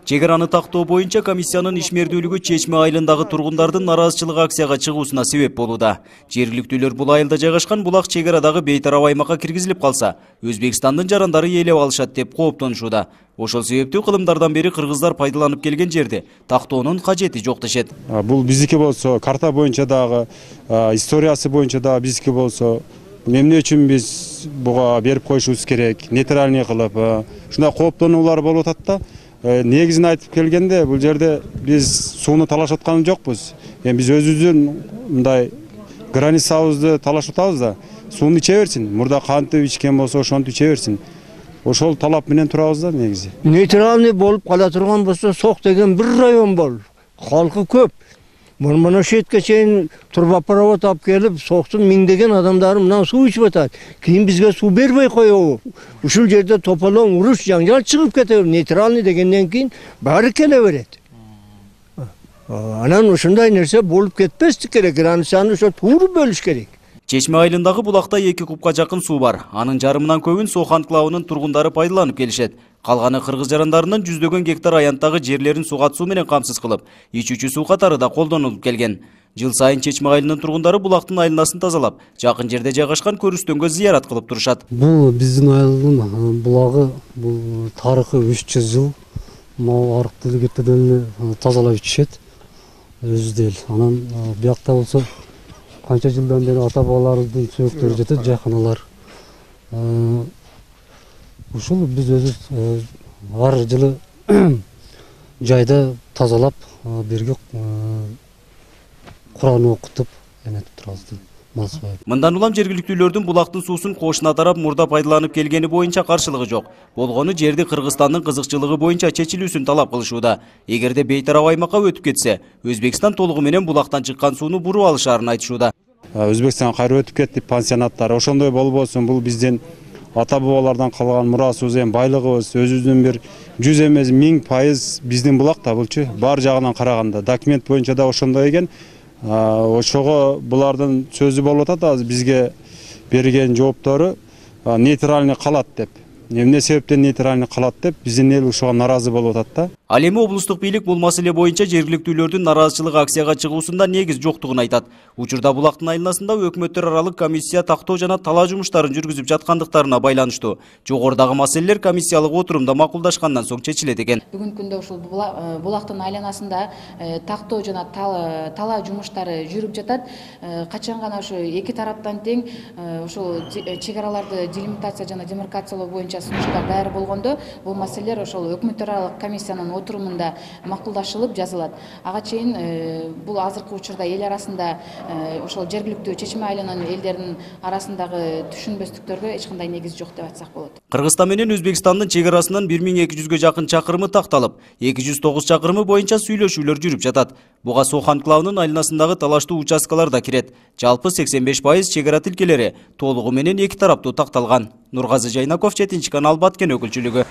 Чек араны тактоо боюнча комиссиянын ишмердүүлүгү Чечме айылындагы тургундардын нараазычылык акцияга чыгуусуна себеп болууда. Жергиликтүүлөр бул айылда жайгашкан булак чек арадагы бейтарап аймакка киргизилип калса, Өзбекстандын жарандары ээлеп алышат деп кооптонушууда. Ошол себептүү кылымдардан бери кыргыздар пайдаланып келген жерде тактоонун кажети жок дешет. Бул биздики болсо, карта боюнча дагы, историясы боюнча дагы биздики болсо, эмне үчүн биз буга берип коюшубуз керек, нейтральный кылып, ушундай кооптонуулар болуп атат да. Негизин айтып келгенде, бул жерде биз сууну талашып аткан жокпуз. Биз өзүбүздүн мындай границабызды талашып атабыз да. Сууну иче берсин. Мурда кантип ичкен болсо, ошонтип иче берсин. Ошол талап менен турабыз да негизи. Нейтральный болуп кала турган болсо, Сок деген бир район бол. Халкы көп. Мына шетке чейин турбопровод алып келип, Соктун миңдеген адамдары мына суу ичип атат. Кийин бизге суу бербей коебу. Ушул жерде тополоң уруш жаңжал чыгып кетет. Нейтральный дегенден кийин баары келе берет. Анан ушундай нерсе болуп кетпестик керек. Границаны ошо тууру бөлүш керек. Чечме айылындагы булакта 2 кубка жакын суу бар. Анын жарымынан көбүн Сок анклавынын тургундары пайдаланып келишет. Калганы кыргыз жарандарынын жүздөгөн гектар аянттагы жерлерин сугат суу менен камсыз кылып, ичүүчү суу катары да колдонулуп келген. Жыл сайын Чечме айылынын тургундары булактын айланасын тазалап, жакын жерде жайгашкан көрүстөнгө зыярат кылып турушат. Бул биздин айылдын булагы, бул тарыхы 300 жыл. Могу арык делегеттерден тазалап ичишет. Өзү дел. Анан биякта болсо канча жылдан бери ата бабаларыбыздын сөөктөрү жетет, жайканалар. Ушул биз өзүбүз ар жылы жайда тазалап, бирге Куран окутуп, энетип турабыз. Мындан улам жергиликтүүлөрдүн булактын суусун кошуна тарап мурда пайдаланып келгени боюнча каршылыгы жок. Болгону жерди Кыргызстандын кызыкчылыгы боюнча чечилүүсүн талап кылышууда. Эгерде бейтарап аймакка өтүп кетсе, Өзбекстан толугу менен булактан чыккан сууну буруп алышаарын айтышууда. Өзбекстанга кайра өтүп кетти пансионаттар. Ошондой болбосун, бул биздин ата бабалардан калган мурасыбыз, байлыгыбыз, өзүбүздүн бир 100 эмес 1000% биздин булак да булчу. Бар жагынан караганда документ боюнча да ошондой экен. Ошого булардын сөзү болуп атат, азыр бизге берген жооптору нейтральный калат деп. Эмне себептен нейтральный калат деп биздин эл ушуга наразы болуп атат да. Ал эми облустук бийлик бул маселе боюнча жергиликтүүлөрдүн нараазычылык акцияга чыгуусунда негиз жоктугун айтат. Учурда булактын айланасында өкмөттөр аралык комиссия тактоо жана талаа жумуштарын жүргүзүп жаткандыктарына байланыштуу жогорудагы маселелер комиссиялык отурумда макулдашкандан соң чечилет экен. Бүгүнкү күндө ушул булактын айланасында тактоо жана талаа жумуштары жүрүп жатат. Качан гана ошо эки тараптан тең ошол чек араларды делимитация жана демаркациялоо боюнча сунуштар даяр болгондо, бул маселелер ошол өкмөттөр аралык комиссиянын отурумунда макулдашылып жазылат. Ага чейин бул азыркы учурда эл арасында ошол жергиликтүү Чечме айылынын элдеринин арасындагы түшүнбөстүктөргө эч кандай негиз жок деп айтсак болот. Кыргызстан менен Өзбекстандын чек арасынан 1200га жакын чакырымы такталып, 209 чакырымы боюнча сүйлөшүүлөр жүрүп жатат. Буга Сок анклавынын айланасындагы талаштуу участкалар да кирет. Жалпы 85% чек ара тилкелери толугу менен эки тараптуу такталган. Нургазы Жайнаков, 7 канал, Баткен өкүлчүлүгү.